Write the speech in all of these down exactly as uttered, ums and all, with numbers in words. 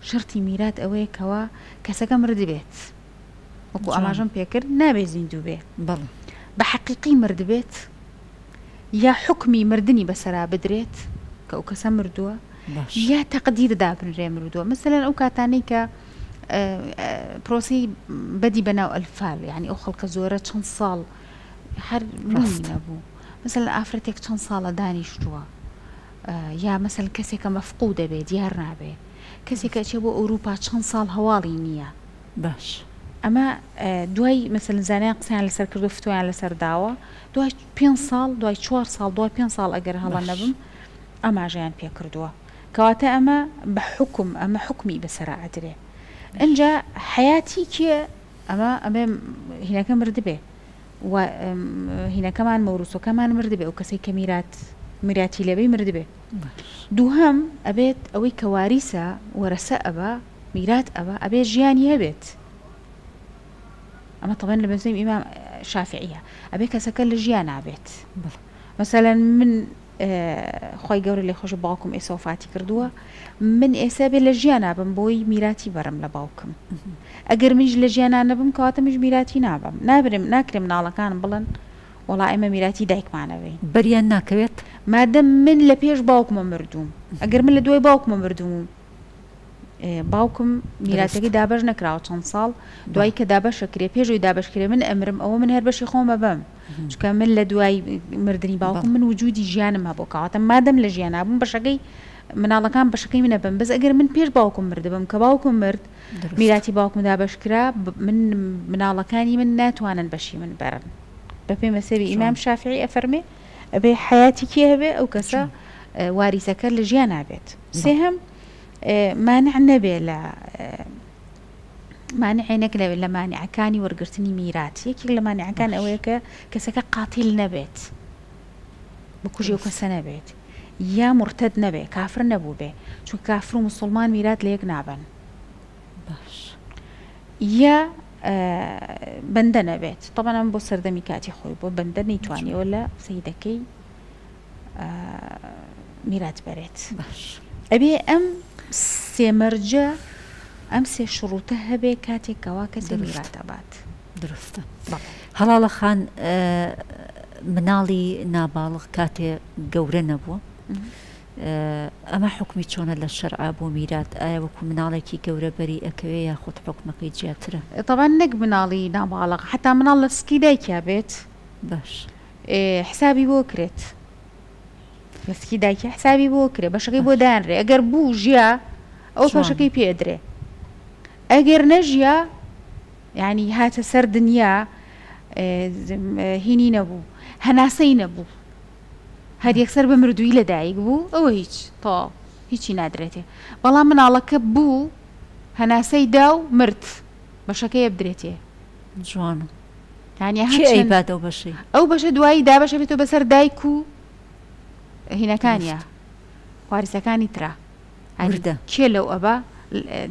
شەرتی میرات ئەوەیە کەوا کەسەکە مردبێت، وەکو ئاماژەم پێکرد نابێ زیندوو بێ، بە حەقیقی مردبێت یا حوکمی مردنی بەسەرا بدرێت کە ئەو کەسە مردووە، یا تەقدیر دابنرێ مردووە. مەسەلەن ئەو کاتانەی کە پرۆسەی بەدی بەناو ئەلفال، یعنی ئەو خەڵکە زۆرە چەند ساڵ هەر بوونی نەبوو. مەسەلەن ئافرەتێک چەند ساڵە دانیشتووە، یا مەسەلەن کەسێکە مەفقود دەبێ دیار نابێ، کەسێکە ئەچێ بۆ ئەوروپا چەند ساڵ هەواڵی نییە. باش ئەمە دوای مەسەلەن زانایان قسەیان لەسەر کردو فتوایان لەسەر داوە، دوای پێنج ساڵ، دوای چوار ساڵ، دوای پێنج ساڵ ئەگەر هەڵە نەبم ئاماژەیان پێ کردووە. کەواتە ئەمە بە حکم، ئەمە حکمی بەسەرا ئەدرێ. ئینجا حیاتی کێ ئەمە ئەمە هینەکە مردبێ و هینەکەمان مەوروسەکەمان مردبێ، ئەو کەسەی کە میرات میراتی لەبەی مردبێ. دووهەم ئەبێت ئەوەی کە واریسە وەرەسە ئەبا میرات ئەبا ئەبێ ژیانی هەبێت. ئەمە طبعا لە مەزهەبی ئیمام شافعیە، ئەبێ کەسەکە لە ژیان نابێت. مەسەلەن من خی گەورە لێ خۆشە باوکم ئێستا وفاتی کردووە، من ئێستا بێ لە ژیان نابم بۆی میراتی بەرم لە باوکم. ئەگەر منیش لە ژیانان نەبم کەواتە منیش میراتی نابم، نابرم، ناکرێم مناڵەکانم بڵێن وەڵا ئێمە میراتی دایکمانەوەین. بەریان ناکەوێت؟ مادەم من لە پێش باوکمە مردووم، ئەگەر من لە دوای باوکمە مردووم، باوکم میراتەکەی دابەش نەکراوە چەند ساڵ، دوای کە دابەشەکرێ پێشەوەی دابەشکرێ من ئەمرم، ئەوە من هەر بەشی خۆمە بەم، چونکە من لە دوای مردنی باوکم من وجودی ژیانم هەبوو، کەواتە مادەم لە ژیان نابووم بەشەکەی مناڵەکان بەشەکەی منە بم. بەس ئەگەر من پێش باوکم مردبم کە باوکم مرد میراتی باوکم دابەشکرا، من مناڵەکانی من ناتوانن بەشی من بەرن. بەپێی مەسەبی ئیمام شافعی ئەفەرمێ ئەبێ حیاتی کێ هەبێ ئەو کەسە واریسەکە لە ژیان نابێت. سێهەم مانع نەبێ لە مانعێ نەک لە مانعەکانی وەرگرتنی میرات. یەکێک لە مانعەکان ئەوەیە کە کەسەکە قاتیل نەبێت، بکوژی ئەو کەسە نەبێت، یا مرتد نەبێ، کافر نەبوو بێ، چونکە کافر و مسلمان میرات لە یەک نابن. باش یا بەندە نەبێت. طبعا ئەم بۆ سەردەمی کاتی خۆی بۆ بەندە نەیتوانیەوە لە سەیدەکەی میرات بەرێت. باش ئەبێ ئەم سێ مەرجە، ئەم سێ شروطە هەبێ کاتێکەوە کەسێ میرات ئەبات. درستە. هەڵاڵە خان، مناڵی ناباڵغ کاتێ گەورە نەبووە، ئەمە حکمی چۆنە لە شەرعا بۆ میرات؟ ئایا وەکو مناڵێکی گەورە بەری ئەکەوێ یاخود حکمەکەی جیاترە؟ طبعا نەک مناڵی ناباڵغ، حتا مناڵ لە سکی دایکیا بێت باش حسابی بۆ کرێت، لە سکی دایکی حسابی بۆ کرێ، بەشەکەی بۆ دانرێ. ئەگەر بوو ژیا ئەو بەشەکەی پێ ئەدرێ، ئەگەر نەژیا یعنی هاتە سەر دنیا هینی نەبوو، هەناسەی نەبوو، هەر یەکسەر بە مردووی لەدایک بوو، ئەوە هیچ تەواو هیچی نادرێتێ. بەڵام مناڵەکە بوو هەناسەی دا و مرد، بەشەکەی بدرێتێ. جوانە. یعنی کێ ئەیبات ئەو بەشەی؟ ئەو بەشە دوایی دابەشە بێتەوە بەسەر دایک و هینەکانیە، واریسەکانی ترا. وردە. کێ لەو ئەبا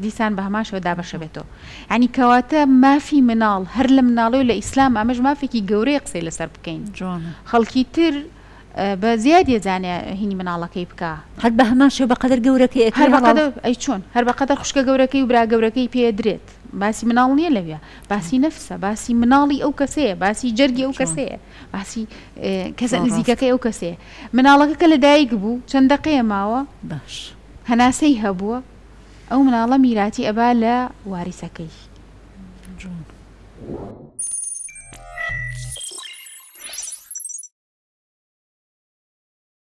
دیسان بە هەماشەوە دابەشە بێتەوە. یعنی کەواتە مافی مناڵ هەر لە مناڵەوە لە ئیسلام ئەمەش مافێکی گەورەیە قسەی لەسەر بکەین. جوانە. خەڵکی تر بە زیادیە زانێ هینی مناڵەکەی بکە، هەر بە هەمان شێوە بەقەدەر گەورەکەی ئەکرێ. هەر بەقەدەر ئەی چۆن هەر بەقەدەر خوشکە گەورەکەی و برا گەورەکەی پێ درێت. باسی مناڵ نییە لەوێ، باسی نەفسە، باسی مناڵی ئەو کەسەیە، باسی جەرگی ئەو کەسەیە، باسی کەسە نزیکەکەی ئەو کەسەیە. مناڵەکە کە لەدایک بوو چەند دەقەیە ماوە، باش هەناسەی هەبووە، ئەو مناڵە میراتی ئەبا لە واریسەکەی. جوان.